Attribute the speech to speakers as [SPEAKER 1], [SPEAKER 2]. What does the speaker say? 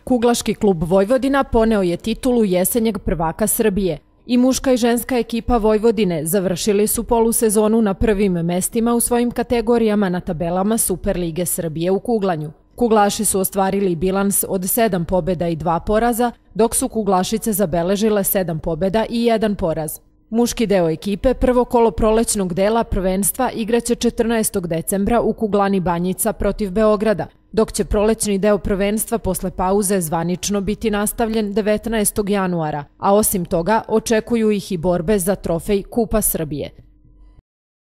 [SPEAKER 1] Kuglaški klub Vojvodina poneo je titulu jesenjeg prvaka Srbije. I muška i ženska ekipa Vojvodine završili su polusezonu na prvim mestima u svojim kategorijama na tabelama Superlige Srbije u kuglanju. Kuglaši su ostvarili bilans od 7 pobjeda i 2 poraza, dok su kuglašice zabeležile 7 pobjeda i 1 poraz. Muški deo ekipe prvo kolo prolećnog dela prvenstva igraće 14. decembra u kuglani Banjica protiv Beograda, dok će prolećni deo prvenstva posle pauze zvanično biti nastavljen 19. januara, a osim toga očekuju ih i borbe za trofej Kupa Srbije.